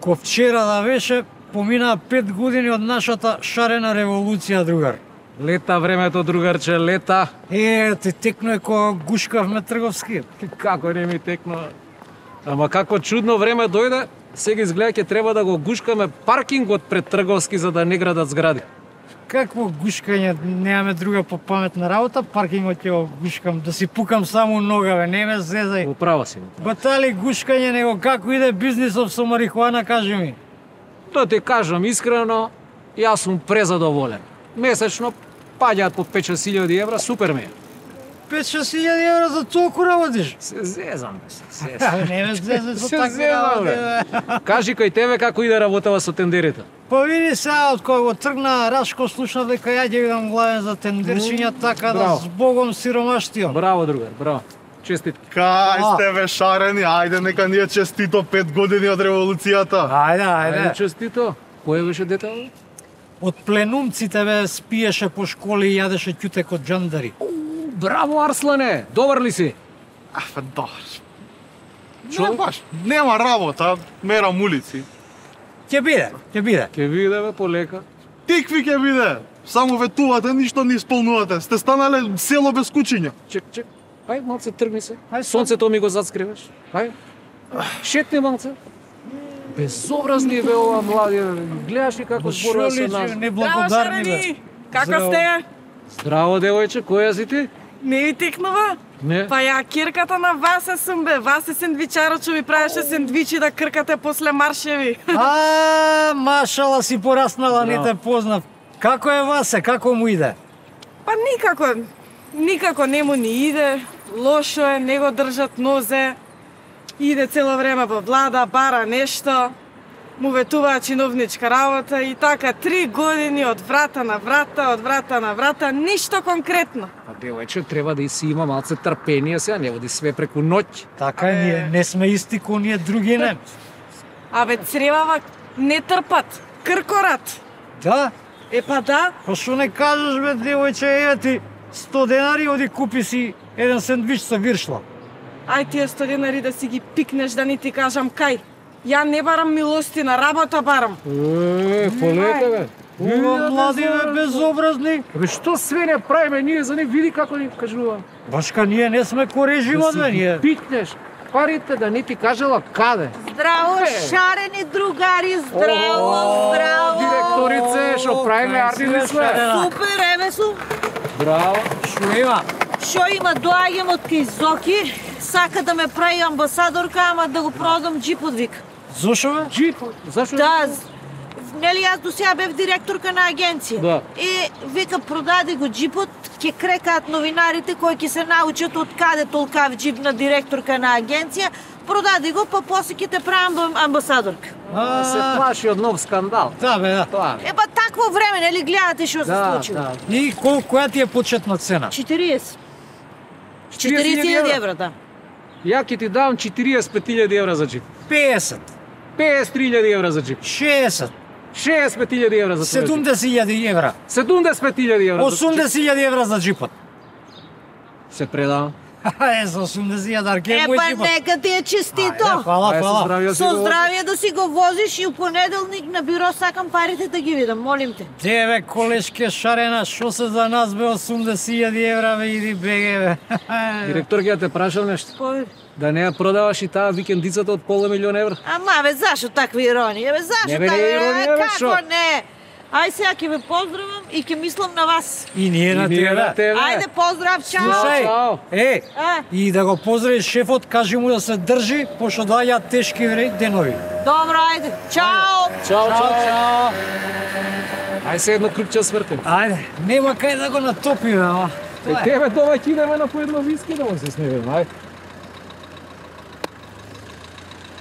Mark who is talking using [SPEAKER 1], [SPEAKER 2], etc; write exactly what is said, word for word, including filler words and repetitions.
[SPEAKER 1] Ко вчера да беше, поминаа пет години од нашата шарена револуција, другар.
[SPEAKER 2] Лета времето, другарче, лета.
[SPEAKER 1] Е, ти текно е кога гушкавме трговски.
[SPEAKER 2] Како не ми текно. Ама како чудно време дојде, сега изгледа ќе треба да го гушкаме паркингот пред трговски за да не градат згради.
[SPEAKER 1] Какво гушкање, немаме друга попаметна работа, паркингот ќе го гушкам, да си пукам само нога, бе, не ме зезај.
[SPEAKER 2] Управа си.
[SPEAKER 1] Батали гушкање, него како иде бизнисов со марихуана, кажи ми.
[SPEAKER 2] Да ти кажам искрено, јас сум презадоволен. Месечно паѓаат по пет-шест илјади евра, супер ми е.
[SPEAKER 1] пет-шест илјади евра за толку работиш?
[SPEAKER 2] Се зезам, бе, се зезам.
[SPEAKER 1] Не ме зезај со
[SPEAKER 2] Се
[SPEAKER 1] такви
[SPEAKER 2] зезам,
[SPEAKER 1] работи,
[SPEAKER 2] бе.
[SPEAKER 1] бе.
[SPEAKER 2] Кажи кај тебе како иде работава со тендерите.
[SPEAKER 1] Па види сега, од кога го тргна Рашко, слушна дека ја ќе бидам главен за тендерчиња, така да
[SPEAKER 2] Браво.
[SPEAKER 1] с Богом сиромаштиот.
[SPEAKER 2] Браво, другар, браво. Честитки.
[SPEAKER 3] Кај
[SPEAKER 1] А.
[SPEAKER 3] сте бе шарени, ајде нека ни е честито пет години од револуцијата.
[SPEAKER 1] Ајде,
[SPEAKER 2] Ајде,
[SPEAKER 1] ајде.
[SPEAKER 2] честито. Кој беше детето?
[SPEAKER 1] Од пленумците бе спиеше по школи и јадеше ќутек од џандари.
[SPEAKER 2] Браво, Арслане! Добар ли си?
[SPEAKER 3] Афе, да. Не баш, нема работа, мерам улици.
[SPEAKER 1] Ќе биде, ќе биде.
[SPEAKER 2] Ке видиме полека.
[SPEAKER 3] Тикви ќе биде. Само ветувате, ништо не исполнувате. Сте станале село без кучиња.
[SPEAKER 2] Чек, чек. Ај, малце тргни се.
[SPEAKER 1] Ај,
[SPEAKER 2] Сонцето ми го заскриваш. Ај. Шетни малце. Безобразни бе ова млади. Гледаш ли како зборува со нас?
[SPEAKER 1] Неблагодарни бе.
[SPEAKER 4] шарени! Како
[SPEAKER 1] Здраво.
[SPEAKER 4] сте?
[SPEAKER 2] Здраво, девојче, која си ти?
[SPEAKER 4] Не ви текнува?
[SPEAKER 2] Не.
[SPEAKER 4] Па ја кирката на Васе сум бе. Васе сендвичарот што ви правеше сендвичи да кркате после маршеви.
[SPEAKER 1] А, машала си пораснала, не
[SPEAKER 2] Браво.
[SPEAKER 1] те познав. Како е Васе, како му иде?
[SPEAKER 4] Па никако, никако не му ни иде. Лошо е, не го држат нозе. Иде цело време во влада, бара нешто. Му ветуваа чиновничка работа и така три години од врата на врата, од врата на врата, ништо конкретно.
[SPEAKER 2] Па девојче, треба да и си има малце трпение сега, не води све преку ноќ.
[SPEAKER 1] Така, ние не сме исти ко ние други не.
[SPEAKER 4] Абе цревава не трпат, кркорат.
[SPEAKER 1] Да?
[SPEAKER 4] Е па да,
[SPEAKER 1] Па што не кажеш бе, девојче, еве ти сто денари, оди купи си еден сендвич со виршла.
[SPEAKER 4] ај тие сто денари да си ги пикнеш, да ни ти кажам кај. Ја не барам милости, на работа барам.
[SPEAKER 2] Е, полека бе.
[SPEAKER 1] Има млади бе, безобразни.
[SPEAKER 2] Бе, што све не правиме ние за не види како ни кажува.
[SPEAKER 1] Башка, ние не сме ко режимот,
[SPEAKER 2] Да
[SPEAKER 1] бе,
[SPEAKER 2] си ги
[SPEAKER 1] ние.
[SPEAKER 2] пикнеш парите да не ти кажела каде.
[SPEAKER 5] Здраво,
[SPEAKER 2] Бе.
[SPEAKER 5] шарени другари, здраво, здраво.
[SPEAKER 2] Директорице, што правиме арти сме.
[SPEAKER 5] Супер, еве сум.
[SPEAKER 2] Браво.
[SPEAKER 1] Што има?
[SPEAKER 5] Шо има, доаѓам од кај Зоки, сака да ме прави амбасадорка, ама да го продам джипот, вика.
[SPEAKER 1] Зошо бе?
[SPEAKER 2] Джип, зашо?
[SPEAKER 5] Да, з- нели јас до сега бев директорка на агенција.
[SPEAKER 2] Да.
[SPEAKER 5] И вика, продади го джипот, ќе крекаат новинарите кои ќе се научат од каде толкав джип на директорка на агенција. Продади го, па после ќе те правам амбасадорка.
[SPEAKER 2] Се плаши од нов скандал.
[SPEAKER 1] Да, бе, да.
[SPEAKER 2] Тоа.
[SPEAKER 5] Е, па такво време, нели гледате што се
[SPEAKER 2] Да,
[SPEAKER 5] случило?
[SPEAKER 2] да.
[SPEAKER 1] И кол, која ти е почетна цена?
[SPEAKER 5] четириесет.
[SPEAKER 2] четириесет
[SPEAKER 5] четириесет
[SPEAKER 2] илјади
[SPEAKER 5] илјади
[SPEAKER 2] евра.
[SPEAKER 5] евра, да.
[SPEAKER 2] Ја ќе ти дам четириесет пет илјади евра за джип.
[SPEAKER 1] песет,
[SPEAKER 2] песет три илјади евра за джип.
[SPEAKER 1] шеесет,
[SPEAKER 2] шеесет пет илјади евра за твој джип.
[SPEAKER 1] седумдесет илјади евра,
[SPEAKER 2] седумдесет пет илјади евра. за-
[SPEAKER 1] осумдесет илјади евра за джипот.
[SPEAKER 2] Се предавам.
[SPEAKER 1] Е, за осумдесет илјади, арке
[SPEAKER 5] Е,
[SPEAKER 1] е мој
[SPEAKER 5] па
[SPEAKER 1] джипот.
[SPEAKER 5] нека ти е честито.
[SPEAKER 1] Ајде, Фала,
[SPEAKER 2] Ајде, со
[SPEAKER 1] фала.
[SPEAKER 2] здравје да си
[SPEAKER 5] Со
[SPEAKER 2] го
[SPEAKER 5] здравје да си го возиш и у понеделник на биро сакам парите да ги видам, молим те.
[SPEAKER 1] Деве, колешке шарена, шо се за нас бе осумдесет илјади евра, бе, иди беге, бе.
[SPEAKER 2] Директор ќе те прашам нешто.
[SPEAKER 5] Повери.
[SPEAKER 2] Да не ја продаваш и таа викендицата од поле милион евра?
[SPEAKER 5] Ама бе, зашо такви иронија? Бе, зашо
[SPEAKER 2] Не, бе, не
[SPEAKER 5] такви
[SPEAKER 2] иронија, бе,
[SPEAKER 5] Како
[SPEAKER 2] шо?
[SPEAKER 5] не? Ај сега ќе ве поздравам и ќе мислам на вас.
[SPEAKER 1] И ние на
[SPEAKER 2] И ние на
[SPEAKER 1] тебе.
[SPEAKER 2] тебе.
[SPEAKER 5] Ајде, поздрав, чао.
[SPEAKER 1] Слушај,
[SPEAKER 2] Чао.
[SPEAKER 1] е,
[SPEAKER 5] А,
[SPEAKER 1] и да го поздравиш шефот, кажи му да се држи, пошто доаѓаат тешки вре- денови.
[SPEAKER 5] добро, ајде. Чао.
[SPEAKER 2] Чао,
[SPEAKER 1] Чао,
[SPEAKER 2] чао.
[SPEAKER 1] чао.
[SPEAKER 2] Ај се едно крупче свртим.
[SPEAKER 1] Ајде, нема кај да го натопиме, ама.
[SPEAKER 2] Е, тебе дома ќе идеме на по едно виски да му се смееме, ај.